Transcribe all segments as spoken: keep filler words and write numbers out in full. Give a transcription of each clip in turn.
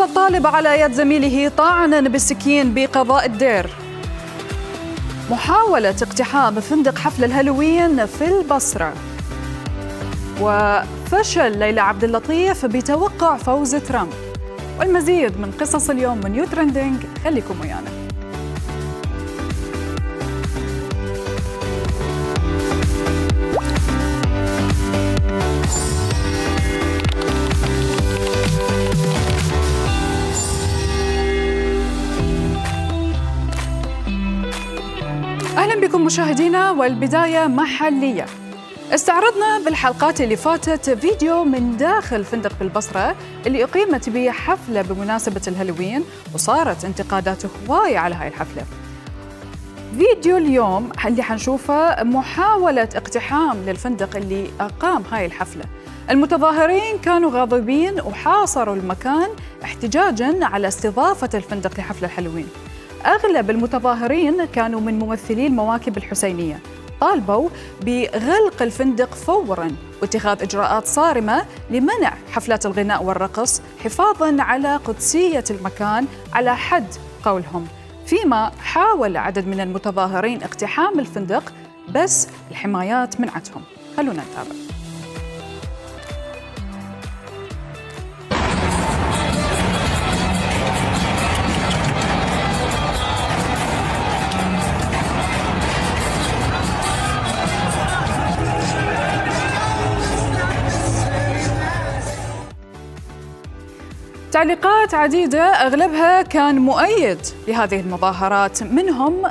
مات الطالب على يد زميله طاعنا بالسكين بقضاء الدير. محاولة اقتحام فندق حفل الهالوين في البصرة. وفشل ليلى عبد اللطيف بتوقع فوز ترامب. والمزيد من قصص اليوم من نيو ترندنج، خليكم ويانا. أهلا بكم مشاهدينا، والبداية محلية. استعرضنا بالحلقات اللي فاتت فيديو من داخل فندق بالبصرة اللي أقيمت به حفلة بمناسبة الهالوين، وصارت انتقادات هواية على هاي الحفلة. فيديو اليوم اللي حنشوفه محاولة اقتحام للفندق اللي أقام هاي الحفلة. المتظاهرين كانوا غاضبين وحاصروا المكان احتجاجاً على استضافة الفندق لحفل الهالوين. أغلب المتظاهرين كانوا من ممثلي المواكب الحسينية، طالبوا بغلق الفندق فوراً واتخاذ إجراءات صارمة لمنع حفلات الغناء والرقص حفاظاً على قدسية المكان على حد قولهم. فيما حاول عدد من المتظاهرين اقتحام الفندق بس الحمايات منعتهم. خلونا نتابع. تعليقات عديدة أغلبها كان مؤيد لهذه المظاهرات، منهم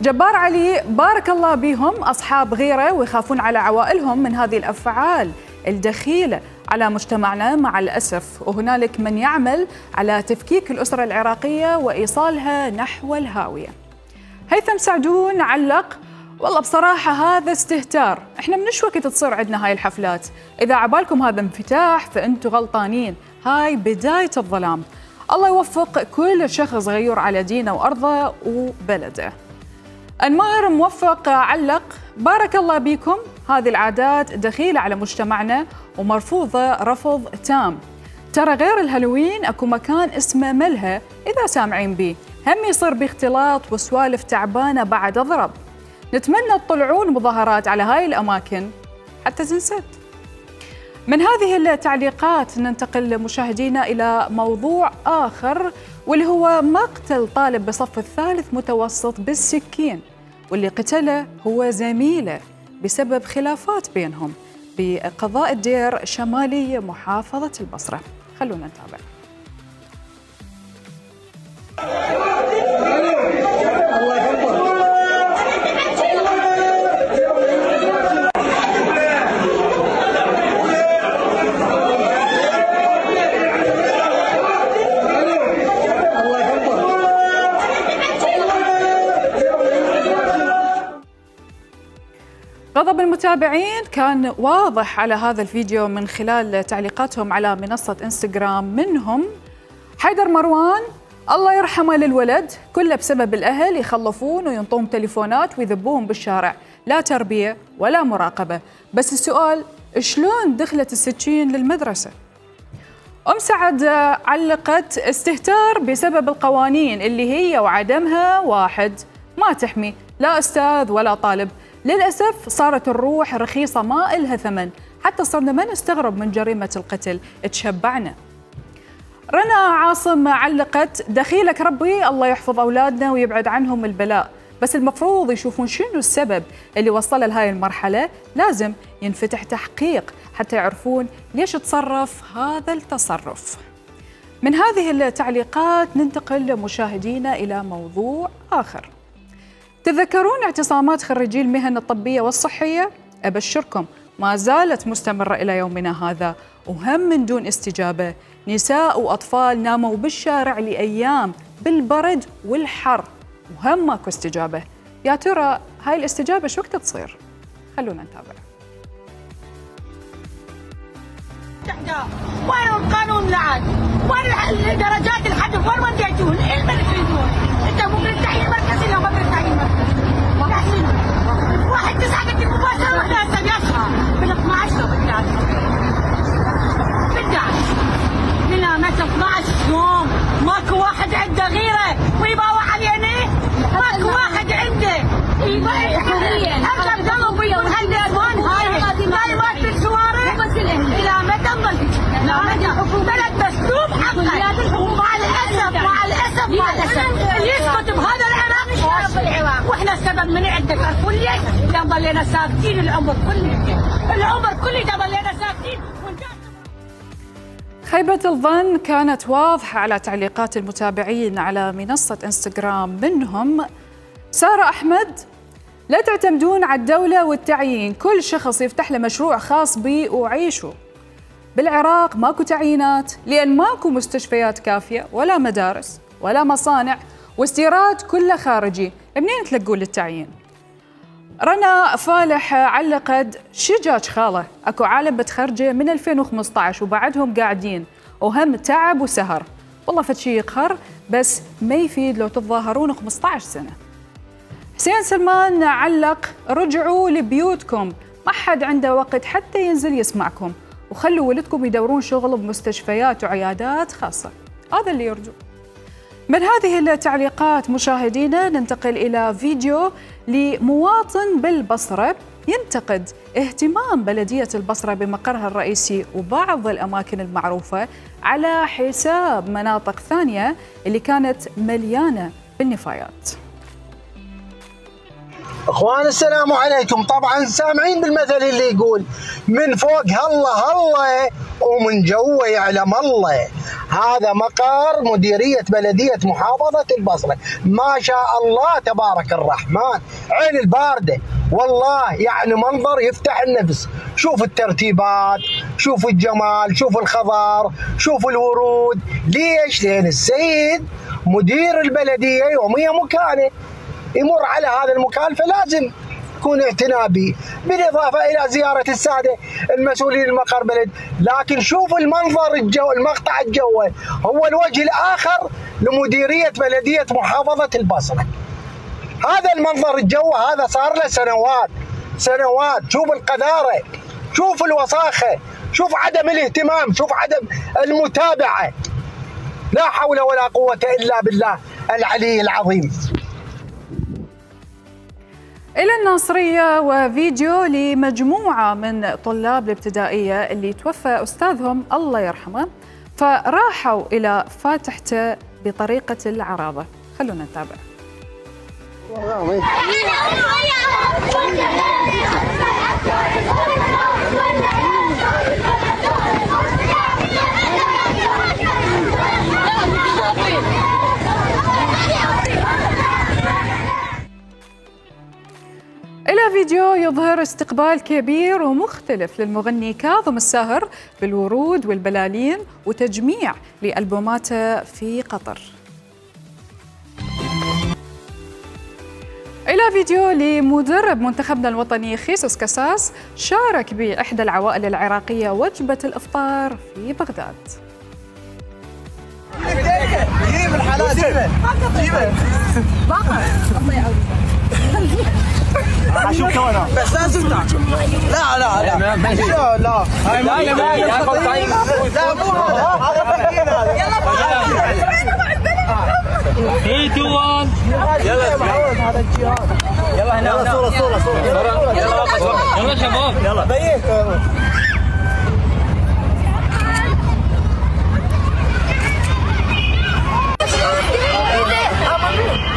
جبار علي بارك الله بهم، أصحاب غيرة ويخافون على عوائلهم من هذه الأفعال الدخيلة على مجتمعنا مع الأسف، وهنالك من يعمل على تفكيك الأسرة العراقية وإيصالها نحو الهاوية. هيثم سعدون علق: والله بصراحة هذا استهتار، احنا منش وقت تصير عندنا هاي الحفلات، إذا عبالكم هذا انفتاح فأنتوا غلطانين، هاي بداية الظلام. الله يوفق كل شخص غيور على دينه وأرضه وبلده. أنمار موفق علق: بارك الله بكم، هذه العادات دخيلة على مجتمعنا ومرفوضة رفض تام. ترى غير الهالوين اكو مكان اسمه ملهى، إذا سامعين بيه هم يصير باختلاط وسوالف تعبانة بعد أضرب. نتمنى تطلعون مظاهرات على هاي الأماكن حتى تنسد. من هذه التعليقات ننتقل مشاهدينا إلى موضوع آخر، واللي هو مقتل طالب بصف الثالث متوسط بالسكين، واللي قتله هو زميله بسبب خلافات بينهم بقضاء الدير شمالي محافظة البصرة. خلونا نتابع. غضب المتابعين كان واضح على هذا الفيديو من خلال تعليقاتهم على منصة انستغرام، منهم حيدر مروان: الله يرحمه للولد، كله بسبب الأهل يخلفون وينطون تليفونات ويذبوهم بالشارع، لا تربية ولا مراقبة، بس السؤال شلون دخلت السكين للمدرسة؟ أم سعد علقت: استهتار بسبب القوانين اللي هي وعدمها واحد، ما تحمي لا أستاذ ولا طالب. للأسف صارت الروح رخيصة ما إلها ثمن، حتى صرنا ما نستغرب من جريمة القتل، تشبعنا. رنا عاصم علقت: دخيلك ربي الله يحفظ أولادنا ويبعد عنهم البلاء، بس المفروض يشوفون شنو السبب اللي وصل لهاي المرحلة، لازم ينفتح تحقيق حتى يعرفون ليش تصرف هذا التصرف. من هذه التعليقات ننتقل مشاهدينا إلى موضوع آخر. تذكرون اعتصامات خريجي المهن الطبية والصحية؟ أبشركم ما زالت مستمرة إلى يومنا هذا، وهم من دون استجابة. نساء وأطفال ناموا بالشارع لأيام بالبرد والحر وهم ماكو استجابة. يا ترى هاي الاستجابة شو وقت تصير؟ خلونا نتابع. وين القانون لعن؟ وين الدرجات الحذف؟ وين وديتون؟ ايه اللي تريدون؟ انت مو من التحليل المركزي لو ما من التحليل المركزي. واحد تسعة قلت المباشرة واحدة هسه بيصحى بال اثني عشر لو بالثالث. بالدعش. من متى اثني عشر يوم ضلينا ساكتين العمر كله، العمر كله ده ضلينا ساكتين. خيبة الظن كانت واضحة على تعليقات المتابعين على منصة انستغرام، منهم سارة أحمد: لا تعتمدون على الدولة والتعيين، كل شخص يفتح له مشروع خاص به وعيشه. بالعراق ماكو تعيينات لأن ماكو مستشفيات كافية ولا مدارس ولا مصانع، واستيراد كله خارجي، منين تلقون للتعيين؟ رنا فالح علقت: شجاج خاله، اكو عالم بتخرجه من ألفين وخمسطعش وبعدهم قاعدين وهم تعب وسهر، والله فد شي يقهر بس ما يفيد لو تتظاهرون خمسطعش سنة. حسين سلمان علق: رجعوا لبيوتكم، ما حد عنده وقت حتى ينزل يسمعكم، وخلوا ولدكم يدورون شغل بمستشفيات وعيادات خاصة. هذا اللي يرجو. من هذه التعليقات مشاهدينا ننتقل إلى فيديو لمواطن بالبصرة ينتقد اهتمام بلدية البصرة بمقرها الرئيسي وبعض الأماكن المعروفة على حساب مناطق ثانية اللي كانت مليانة بالنفايات. اخوان السلام عليكم. طبعا سامعين بالمثل اللي يقول من فوق هلا هلا ومن جوا يعلم الله. هذا مقر مديرية بلدية محافظة البصرة، ما شاء الله تبارك الرحمن، عين الباردة والله، يعني منظر يفتح النفس. شوف الترتيبات، شوف الجمال، شوف الخضار، شوف الورود. ليش؟ لأن السيد مدير البلدية يوميا مكانه يمر على هذا المكان، فلازم يكون اعتناء به، بالإضافة إلى زيارة السادة المسؤولين المقر بلد. لكن شوف المنظر الجو، المقطع الجوي هو الوجه الآخر لمديرية بلدية محافظة البصرة. هذا المنظر الجوي هذا صار له سنوات سنوات. شوف القذارة، شوف الوساخة، شوف عدم الاهتمام، شوف عدم المتابعة. لا حول ولا قوة إلا بالله العلي العظيم. إلى الناصرية وفيديو لمجموعة من طلاب الابتدائية اللي توفى أستاذهم الله يرحمه، فراحوا إلى فاتحته بطريقة العرابة. خلونا نتابع. إلى فيديو يظهر استقبال كبير ومختلف للمغني كاظم الساهر بالورود والبلالين وتجميع لألبوماته في قطر. إلى فيديو لمدرب منتخبنا الوطني خيسوس كاساس شارك بإحدى العوائل العراقية وجبة الإفطار في بغداد. جيب الحلال جيبه جيبه باقة الله يعوضك. اشوف كمان بس لا زبده. لا لا لا ان شاء الله. هاي لا لا لا مو هذا فكين هذا. يلا ثلاثة اثنين واحد يلا هذا الجهاد. يلا هنا يلا صوره صوره صوره يلا يلا شباب يلا بيك.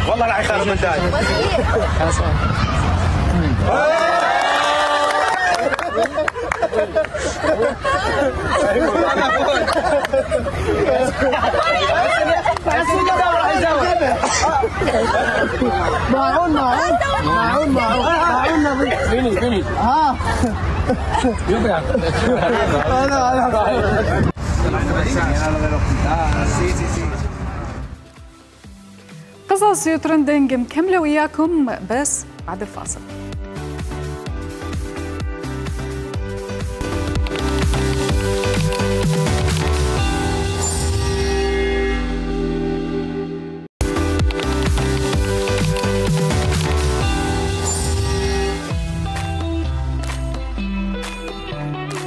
والله لا يخرب من داي. معون معون معون معون نظيف. فيني فيني ها يبرع. انا انا قصص يوترندنج مكملة وياكم بس بعد الفاصل.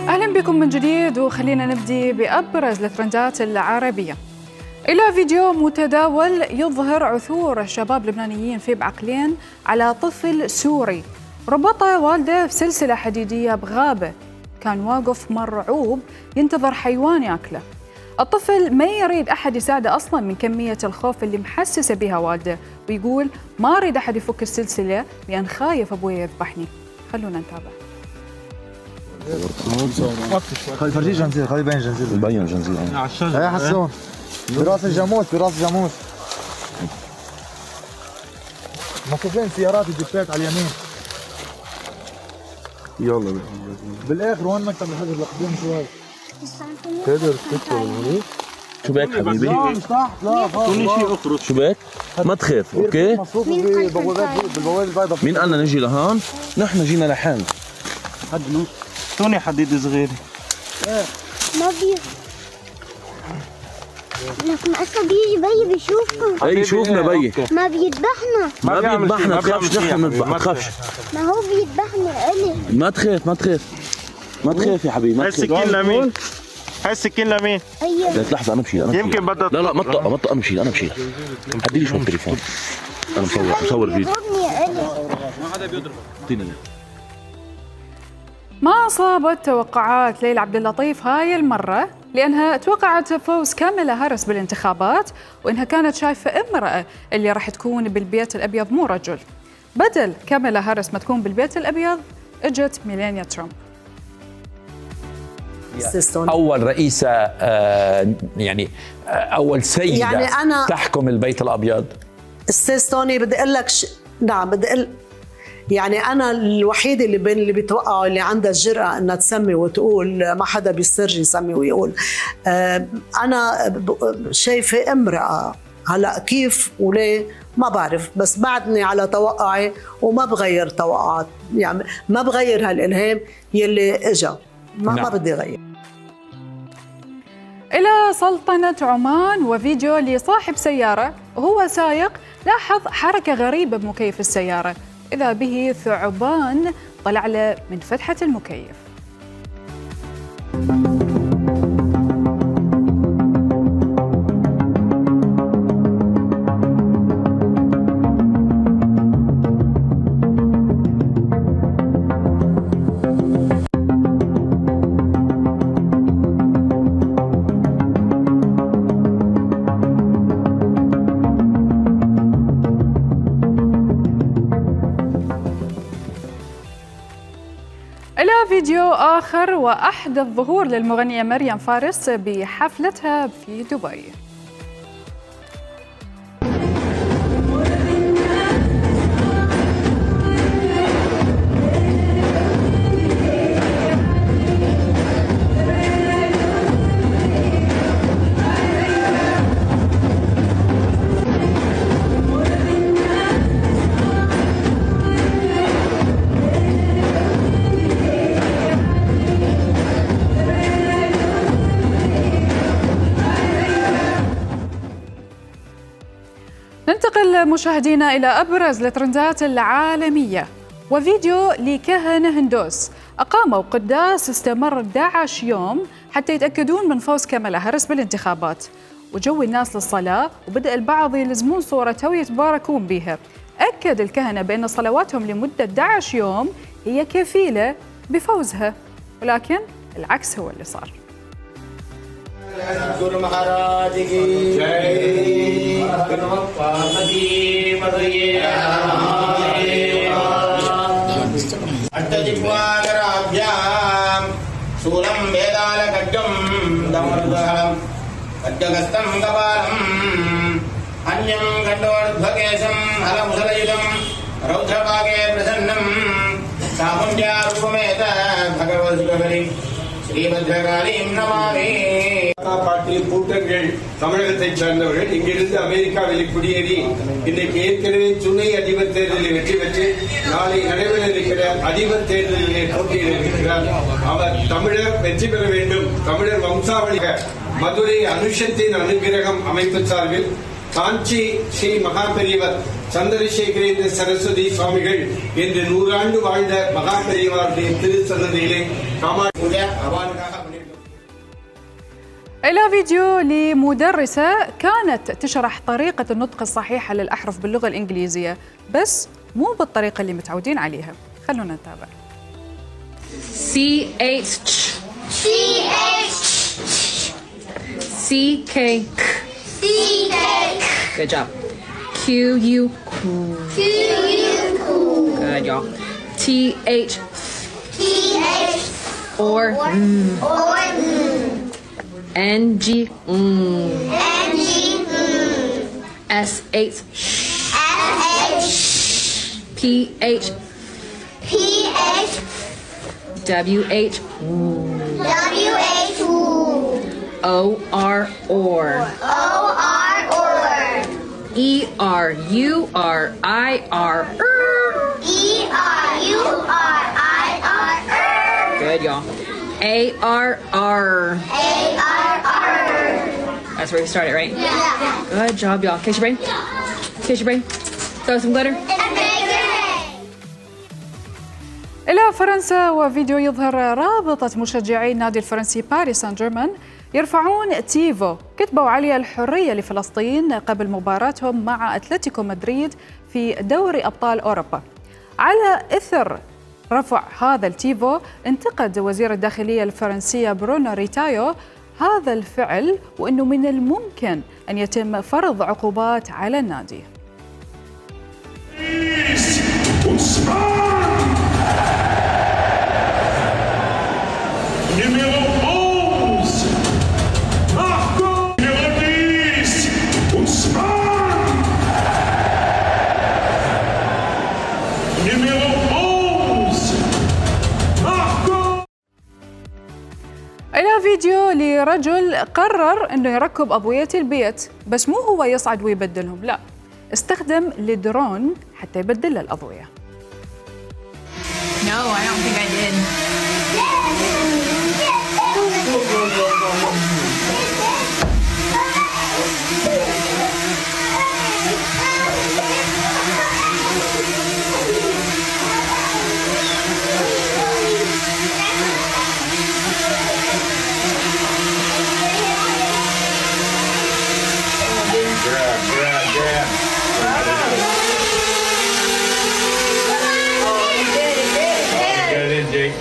أهلا بكم من جديد، وخلينا نبدي بأبرز الترندات العربية. إلى فيديو متداول يظهر عثور شباب لبنانيين في بعقلين على طفل سوري ربطه والده بسلسلة حديدية بغابة، كان واقف مرعوب ينتظر حيوان ياكله. الطفل ما يريد أحد يساعده أصلاً من كمية الخوف اللي محسسه بها والده، ويقول ما أريد أحد يفك السلسلة لأن خايف أبوي يذبحني. خلونا نتابع. خلي فرجيه جنزير، خلي يبين جنزير. يبين جنزير. هي حسون براس الجاموس، براس الجاموس. مصفين سيارات الجيبات على اليمين. يلا بالاخر وين مكتب الحجر لقدام شوي. تقدر تدخل هونيك. شو بك حبيبي؟ لا مش تحت، لا خلص. شيء اخرج. شو بك؟ ما تخاف، اوكي؟ بالبوابات البيضاء. مين قالنا نجي لهون؟ نحن جينا لحالنا. حد توني حديد صغير. ما بي لكن اصلا بيجي بي بيشوفكم. اي شوفنا بي. ما بيذبحنا. ما بيذبحنا، ما تخافش، نحن بنذبح، ما تخافش. ما هو بيذبحنا الي. ما تخاف، ما تخاف. ما تخاف يا حبيبي، ما تخاف. هاي السكين لمين؟ هاي السكين لمين؟ ايوه. لا لحظة أنا بشيل، أنا بشيل. يمكن بدها لا لا ما تطق ما تطق أنا بشيل، أنا بشيل. حدي لي شوي التليفون. أنا مصور مصور فيديو. ما حدا بيضربك. اعطيني إياه. ما أصابت توقعات ليلى عبد اللطيف هاي المرة، لأنها توقعت فوز كاميلا هاريس بالانتخابات، وإنها كانت شايفة امرأة اللي راح تكون بالبيت الأبيض مو رجل. بدل كاميلا هاريس ما تكون بالبيت الأبيض اجت ميلانيا ترامب. أول رئيسة آه يعني آه أول سيدة يعني أنا تحكم البيت الأبيض. أستاذ توني بدي أقول لك ش... نعم بدي أقول يعني أنا الوحيدة اللي بين اللي بيتوقعوا اللي عندها الجرأة إنها تسمي وتقول ما حدا بيسترجي يسمي ويقول. آه أنا شايفة امرأة هلا كيف وليه ما بعرف، بس بعدني على توقعي وما بغير توقعات، يعني ما بغير هالإلهام يلي إجا، ما نعم. ما بدي غير. إلى سلطنة عمان وفيديو لصاحب سيارة وهو سايق لاحظ حركة غريبة بمكيف السيارة، إذا به ثعبان طلع له من فتحة المكيف. إلى فيديو آخر وأحدث ظهور للمغنية مريم فارس بحفلتها في دبي. ننتقل مشاهدينا إلى أبرز الترندات العالمية وفيديو لكهنة هندوس أقاموا قداس استمر أحد عشر يوم حتى يتأكدون من فوز كاميلا هاريس بالانتخابات، وجو الناس للصلاة وبدأ البعض يلزمون صورته ويتباركون بها. أكد الكهنة بأن صلواتهم لمدة أحد عشر يوم هي كفيلة بفوزها، ولكن العكس هو اللي صار. गुरु महाराज की जय पार्वती अट्टजिह्वाकराभ्यां शूलं वेदाल खड्गं दमरुदहरं खड्गहस्तं कपालम् अन्यं खण्डोर्ध्वकेशं हलमुसलयुधं रौद्रभागे प्रसन्नं चामुण्ड्यारूपमेत भगवद्गुरुहरि ஸ்ரீபத்ரகாளீம் நமாமி. பார்ட்டியின் கூட்டங்கள் தமிழகத்தைச் சார்ந்தவர்கள் இங்கிருந்து அமெரிக்காவில் குடியேறி இன்றைக்கு ஏற்கனவே துணை அதிபர் தேர்தலில் வெற்றி பெற்று நாளை நடைபெற இருக்கிற அதிபர் தேர்தலிலே போட்டியிட இருக்கிறார். அவர் தமிழர் வெற்றி பெற வேண்டும், தமிழர் வம்சாவளி மதுரை அனுஷத்தின் அனுகிரகம் அமைப்பு சார்பில் காஞ்சி ஸ்ரீ மகாபெரியவர் சந்திரசேகரேந்திர சரஸ்வதி சுவாமிகள் என்று நூறாண்டு வாழ்ந்த மகாபெரியவருடைய திருச்சன்னதியிலே إلى فيديو لمدرسة كانت تشرح طريقة النطق الصحيحة للأحرف باللغة الإنجليزية، بس مو بالطريقة اللي متعودين عليها. خلونا نتابع. C H C H C K C K Good job. Q U Q U Good y'all. T T H. T H. Or. Mm. Or. Mm. N G. Mm. N G. Mm. S H. S H. P H. P H. W H. W H. O R. Or. O R. Or. E R U R I R. E R U R I R. Good, y'all. A R R. A R R. That's where we started, right? Yeah. Good job, y'all. Kiss your brain. Kiss your brain. Throw some glitter. إلى فرنسا، وفيديو يظهر رابطة مشجعي النادي الفرنسي باريس سان جيرمان يرفعون تيفو كتبوا عليه الحرية لفلسطين قبل مباراتهم مع أتلتيكو مدريد في دوري أبطال أوروبا. على إثر رفع هذا التيفو انتقد وزير الداخلية الفرنسية برونو ريتايو هذا الفعل، وأنه من الممكن أن يتم فرض عقوبات على النادي. إلى فيديو لرجل قرر أنه يركب أبوية البيت، بس مو هو يصعد ويبدلهم، لا، استخدم الدرون حتى يبدل الأضوية. No, I don't think I did.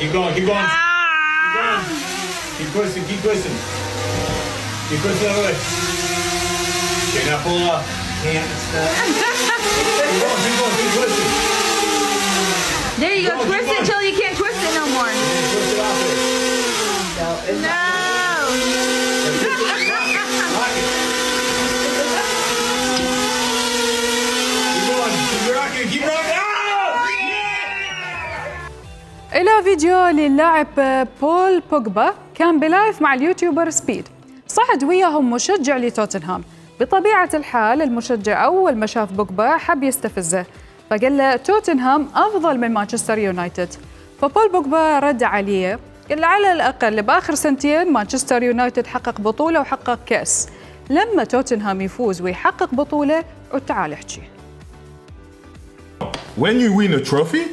Keep going, keep going. Keep going. Keep twisting, keep twisting. Keep twisting the way. Okay, now pull up. Can't stop. Keep going, keep going, keep twisting. There you go. Keep going, Twist keep it until you can't twist it no more. Twist it out there. No. Rock it. Keep going, keep rocking, keep rocking. إلى فيديو للاعب بول بوجبا كان بلايف مع اليوتيوبر سبيد، صعد وياهم مشجع لتوتنهام. بطبيعة الحال المشجع أول ما شاف بوجبا حب يستفزه، فقال له توتنهام أفضل من مانشستر يونايتد. فبول بوجبا رد عليه قال له على الأقل بآخر سنتين مانشستر يونايتد حقق بطولة وحقق كأس، لما توتنهام يفوز ويحقق بطولة وتعال احكي. When you win a trophy,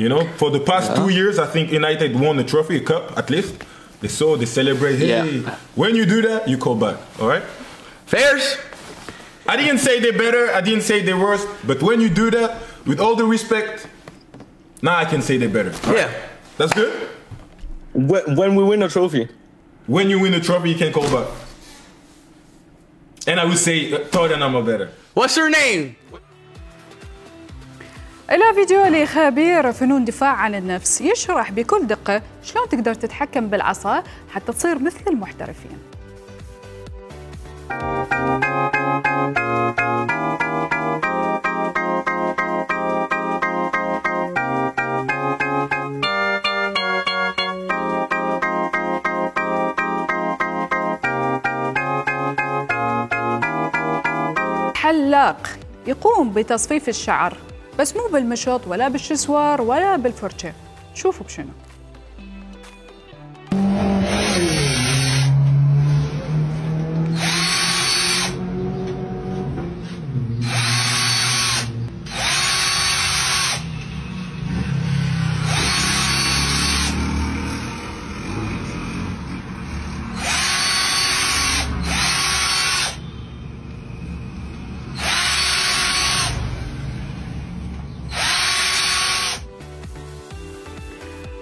you know, for the past yeah. two years, I think United won the trophy, a cup at least. They saw, they celebrate. Hey, yeah. When you do that, you call back. All right? Fairs. I didn't say they're better. I didn't say they're worse. But when you do that, with all the respect, now I can say they're better. All yeah. Right? That's good? When, when we win a trophy. When you win a trophy, you can call back. And I would say Tottenham are better. What's her name? إلى فيديو لخبير فنون دفاع عن النفس يشرح بكل دقة شلون تقدر تتحكم بالعصا حتى تصير مثل المحترفين. حلاق يقوم بتصفيف الشعر، بس مو بالمشط ولا بالشسوار ولا بالفرشة. شوفوا بشنو.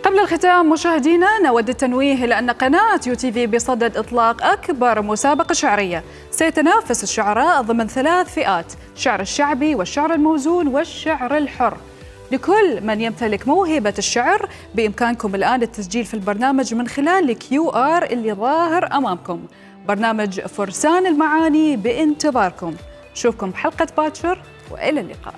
قبل الختام مشاهدينا نود التنويه إلى أن قناة يو تي في بصدد إطلاق أكبر مسابقة شعرية سيتنافس الشعراء ضمن ثلاث فئات: الشعر الشعبي والشعر الموزون والشعر الحر. لكل من يمتلك موهبة الشعر بإمكانكم الآن التسجيل في البرنامج من خلال الكيو آر اللي ظاهر أمامكم. برنامج فرسان المعاني بانتظاركم. نشوفكم بحلقة باكر وإلى اللقاء.